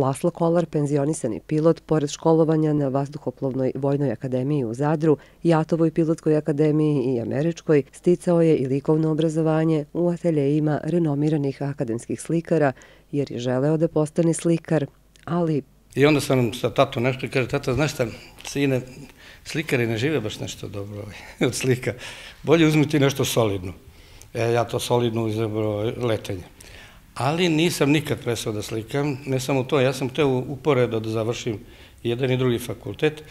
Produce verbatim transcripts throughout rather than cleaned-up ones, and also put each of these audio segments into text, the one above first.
Laslo Kolar, penzionisani pilot, pored školovanja na Vazduhoplovnoj vojnoj akademiji u Zadru, Jatovoj pilotskoj akademiji i Američkoj, sticao je i likovno obrazovanje u ateljejima renomiranih akademskih slikara, jer je želeo da postane slikar, ali... I onda sam sa tatom nešto i kaže, tata, znaš šta, sine, slikari ne žive baš nešto dobro od slika. Bolje uzmi ti nešto solidno. E, ja to solidno izabrao letenje. Ali nisam nikad prestao da slikam, ne samo to, ja sam teo uporedo da završim jedan i drugi fakultet,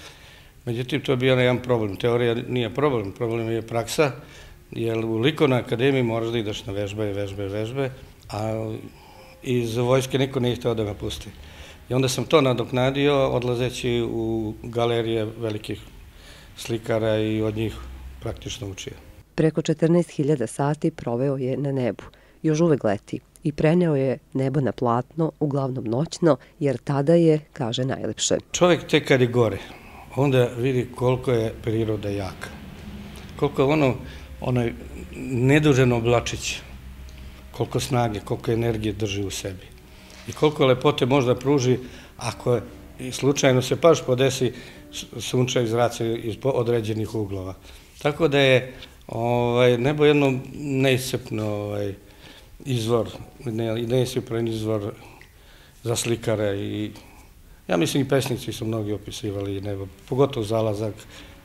međutim to je bio jedan problem, teorija nije problem, problem je praksa, jer u likovnoj akademiji moraš da ideš na vežbe, vežbe, vežbe, a iz vojske niko nije hteo da me pusti. I onda sam to nadoknadio odlazeći u galerije velikih slikara i od njih praktično učio. Preko četrnaest hiljada sati proveo je na nebu, još uvek leti, i preneo je nebo na platno, uglavnom noćno, jer tada je, kaže, najlepše. Čovjek tek kad je gore, onda vidi koliko je priroda jaka. Koliko je ono, onaj nedužen oblačić, koliko snage, koliko energije drži u sebi. I koliko lepote možda pruži ako slučajno se baš podesi sunčak zraci iz određenih uglova. Tako da je nebo jedno neiscrpno izvor, neiscrpan izvor za slikare i ja mislim i pesnici su mnogi opisivali nebo, pogotovo zalazak,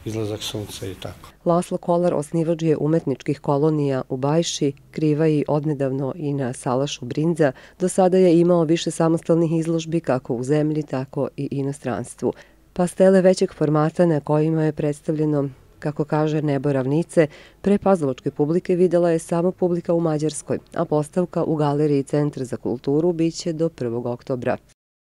izlazak sunca i tako. Laslo Kolar osnivač je umetničkih kolonija u Bajši, Krivaji, odnedavno i na Salašu Brinza. Do sada je imao više samostalnih izložbi kako u zemlji, tako i inostranstvu. Pastele većeg formata na kojima je predstavljeno, kako kaže, nebo ravnice, pre pazlovačke publike videla je samo publika u Mađarskoj, a postavka u galeriji Centra za kulturu biće do prvog oktobra.